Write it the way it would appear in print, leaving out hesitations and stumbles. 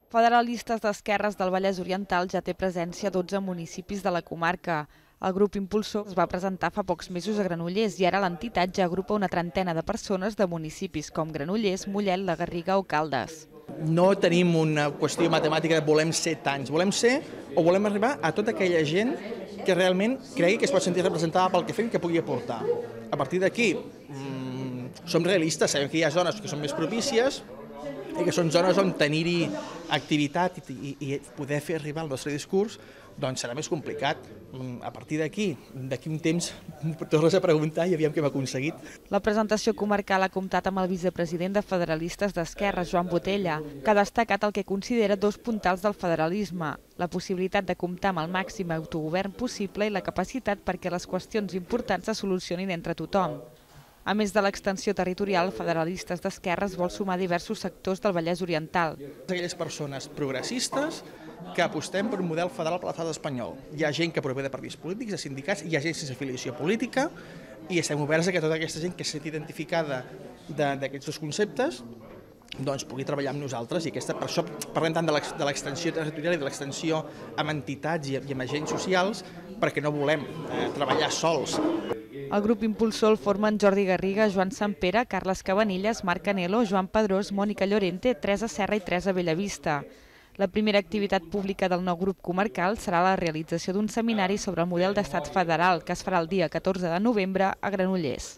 Federalistes d'Esquerres del Vallès Oriental ja té presència a 12 municipis de la comarca. El grup impulsor es va presentar fa pocs mesos a Granollers i ara l'entitat ja agrupa una trentena de persones de municipis com Granollers, Mollet, la Garriga o Caldes. No tenim una qüestió matemàtica de volem ser tants, volem ser o volem arribar a tota aquella gent que realment cregui que es pot sentir representada pel que fem i que pugui aportar. A partir d'aquí, som realistes, sabem que hi ha zones que són més propícies i que són zones on tenir-hi activitat i poder fer arribar el nostre discurs doncs serà més complicat. A partir d'aquí un temps, tornes a preguntar i aviam què hem aconseguit. La presentació comarcal ha comptat amb el vicepresident de Federalistes d'Esquerres, Joan Botella, que ha destacat el que considera dos puntals del federalisme, la possibilitat de comptar amb el màxim autogovern possible i la capacitat perquè les qüestions importants se solucionin entre tothom. A més de l'extensió territorial, Federalistes d'Esquerres vol sumar diversos sectors del Vallès Oriental. Aquelles persones progressistes que apostem per un model federal per l'estat espanyol. Hi ha gent que prové de partits polítics, de sindicats, hi ha gent sense afiliació política i estem oberts a que tota aquesta gent que s'ha identificada d'aquests dos conceptes doncs pugui treballar amb nosaltres i per això parlem tant de l'extensió territorial i de l'extensió amb entitats i amb agents socials perquè no volem treballar sols. El grup impulsor el formen Jordi Garriga, Joan Sampere, Carles Cabanilles, Marc Canelo, Joan Pedrós, Mònica Llorente, Teresa Serra i Teresa Bellavista. La primera activitat pública del nou grup comarcal serà la realització d'un seminari sobre el model d'estat federal que es farà el dia 14 de novembre a Granollers.